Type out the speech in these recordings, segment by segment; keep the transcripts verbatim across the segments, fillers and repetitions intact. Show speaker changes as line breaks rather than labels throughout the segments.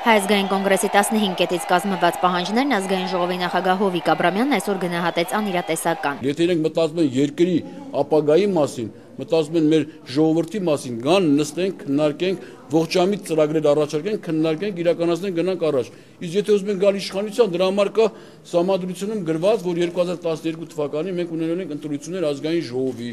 Հայ ազգային կոնգրեսի տասնհինգ կետից կազմված պահանջներն ազգային ժողովի նախագահ Հովիկ Աբրամյանն այսօր գնահատեց անիրատեսական։
Եթե իրենք մտածում են երկրի ապագայի մասին, մտածում են մեր ժողովրդի մասին, գան նստենք, քննարկենք, ողջամիտ ծրագրեր առաջարկենք, քննարկենք, իրականացնենք, գնանք առաջ։ Իսկ եթե ուզում են գալ իշխանության, դրա համար կա սահմանադրությունում գրված, որ երկու հազար տասներկու թվականին մենք ունենալու ենք ընտրություններ ազգային ժողովի,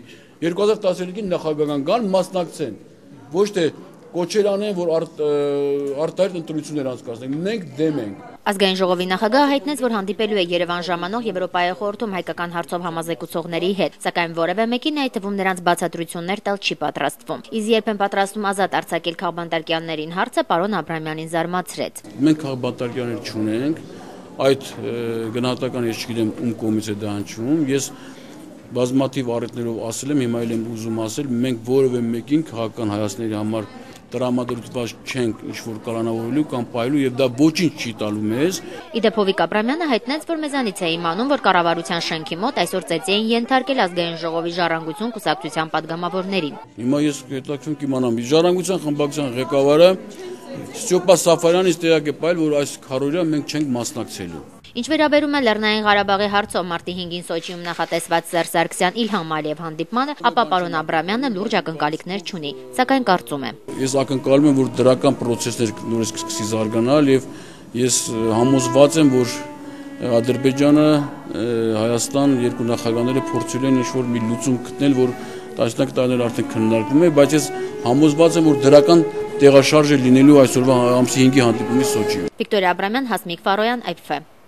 երկու հազար տասներեքին նախագահական գան մասնակցեն, ոչ թե կոչեր անեն, որ արտահայտ ընտրություններ անցկացնենք, մենք դեմ ենք։
Ազգային ժողովի նախագահը հայտնեց, որ հանդիպելու է Երևան ժամանող Եվրոպայի խորհրդում հայկական հարցով համազեկուցողների հետ, սակայն որևէ մեկին, այդ թվում նրանց բացատրություններ տալ չի պատրաստվում։ Իսկ երբ են պատրաստվում ազատ արձակել քաղբանտարկյաններին հարցը, պարոն Աբրամյանին զարմացրեց։
Մենք քաղբանտարկյաններ չունենք, այդ գնահատականը ես չգիտեմ ում կողմից է դա հնչում, ես բազմաթիվ առիթներով ասել եմ, հիմա էլ եմ ուզում ասել, մենք որևէ մեկին քաղաքական հայացքների համար տրամադրված չենք ինչ-որ կալանավորելու կամ պայելու եւ դա ոչինչ չի տալու մեզ։
Իդեպ Հովիկ Աբրամյանը հայտնեց, որ մեզանից է իմանում, որ կառավարության շենքի մոտ այսօր ծեծի էին ենթարկել ազգային ժողովի ժառանգություն կուսակցության падգամավորներին։
Հիմա ես հետաքրքրում կիմանամ, ժառանգության խմբակցության ղեկավարը Ստյոպա Սաֆարյանից տեղակ է պայել, որ այս քարորիա մենք չենք մասնակցելու։
Ինչ վերաբերում է Լեռնային Ղարաբաղի հարցով մարտի հինգին Սոչիում նախատեսված Սերժ Սարգսյան Իլհամ Ալիև հանդիպմանը, ապա պարոն Աբրամյանը լուրջ ակնկալիքներ չունի, սակայն կարծում է.
Ես ակնկալում եմ, որ դրական պրոցեսներ նորից կսկսի զարգանալ եւ ես համոզված եմ, որ Ադրբեջանը, Հայաստան երկու նախագահները փորձել են ինչ-որ մի լուծում գտնել, որ տասնյակ տարիներ արդեն քննարկվում է, բայց ես համոզված եմ, որ դրական տեղաշարժ է լինելու այսօրվա ամսի հինգի հանդիպումից Սոչիում։
Վիկտորիա Աբրամյան, Հասմիկ Ֆարոյան, Այ Փ Ֆ։